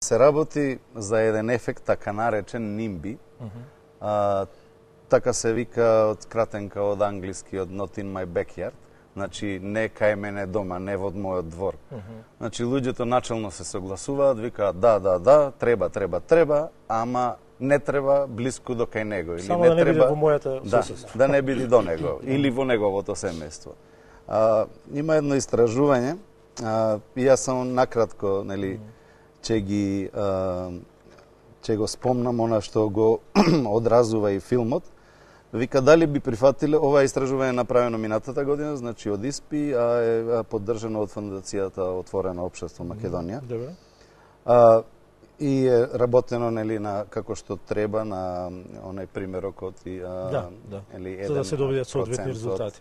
се работи за еден ефект, така наречен нимби. Така се вика од скратенка од англиски, од not in my backyard. Значи, не кај мене дома, не во мојот двор. Значи, луѓето начелно се согласуваат, викаат да, треба, ама не треба блиску до кај него. Или Само не да не треба, биде во мојата соседство. Да не биде до него, или во неговото семејство. Има едно истражување, и јас само накратко, нели, ќе го спомнам она што го одразува и филмот. Вика, дали би прифатиле, ова истражување направено минатата година, значи од ИСПИ, а е поддржано од Фондацијата Отворено општество Македонија. Добре. И е работено, нели, на како што треба на онај примерок од нели, за да се добијат соодветни резултати,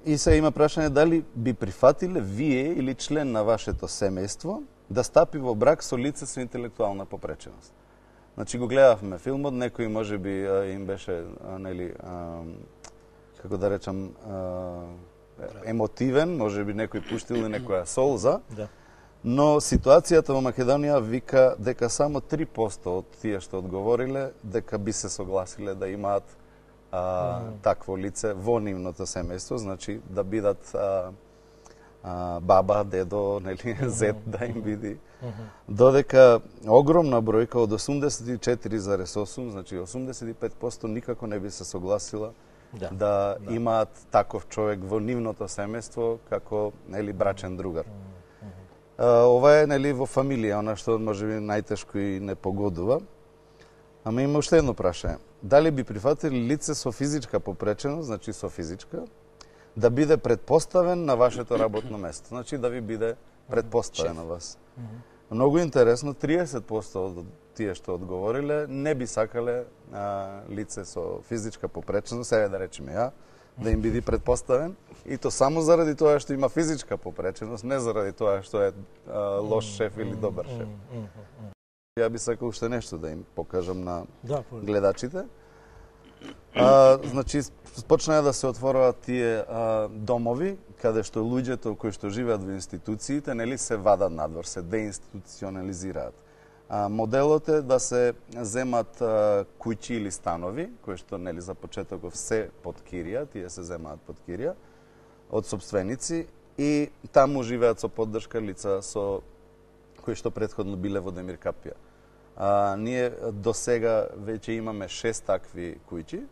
И се има прашање дали би прифатиле вие или член на вашето семејство да стапи во брак со лице со интелектуална попреченост. Значи го гледавме филмот, некој можеби им беше, нели, како да речам, емотивен, можеби некој пуштил некоја солза. Но ситуацијата во Македонија вика дека само 3% од тие што одговориле дека би се согласиле да имаат такво лице во нивното семејство, значи да бидат баба, дедо, нели, зет да им биде. Додека огромна бројка од 84,8, значи 85% никако не би се согласила да имаат таков човек во нивното семејство како, нели, брачен другар. Ова е, нели, во фамилија, она што можеби најтешко и не погодува. Ама има уште едно прашање. Дали би прифатили лице со физичка попреченост, значи со физичка, да биде предпоставен на вашето работно место, значи да ви биде предпоставен на вас. Многу интересно, 30% од тие што одговориле не би сакале лице со физичка попреченост, сега да речеме ја, да им биде предпоставен, и то само заради тоа што има физичка попреченост, не заради тоа што е лош шеф или добар шеф. Ја би сакал уште нешто да им покажам на гледачите. Значи, почнаа да се отворуваат тие домови, каде што луѓето кои што живеат во институциите, нели, се вадат надвор, се деинституционализираат. Моделот е да се земат куќи или станови, кои што, нели, за почетоков се под кирија, тие се земаат под кирија, од сопственици, и таму живеат со поддршка лица со кои што претходно биле во Демир Капија. Ние до сега веќе имаме 6 такви куќи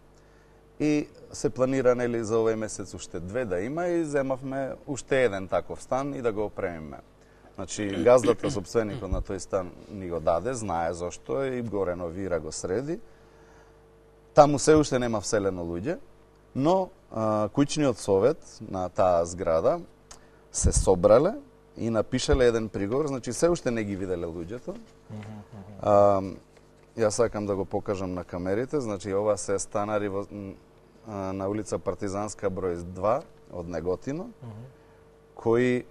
и се планира, нели, за овој месец уште 2 да има, и земавме уште еден таков стан и да го опремиме. Значи, газдата, сопственикот на тој стан ни го даде, знае зошто и го реновира, го среди. Таму се уште нема вселено луѓе, но куќниот совет на таа зграда се собрале и напишале еден приговор, значи се уште не ги виделе луѓето. Јас сакам да го покажам на камерите, значи ова се станари на улица Партизанска број 2 од Неготино, кои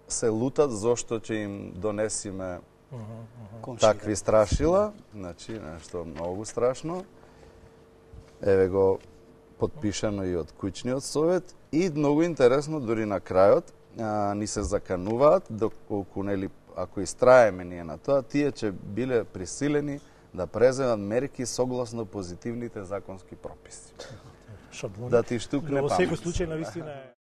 се лутат зошто ќе им донесиме такви страшила, значи нешто многу страшно. Еве го подпишано и од куќниот совет, и многу интересно, дури на крајот ни се закануваат доколку, нели, ако истраеме ние на тоа, тие ќе биле присилени да преземат мерки согласно позитивните законски прописи. Шаблони. Да ти штукне памет. Во секој случај, навистина е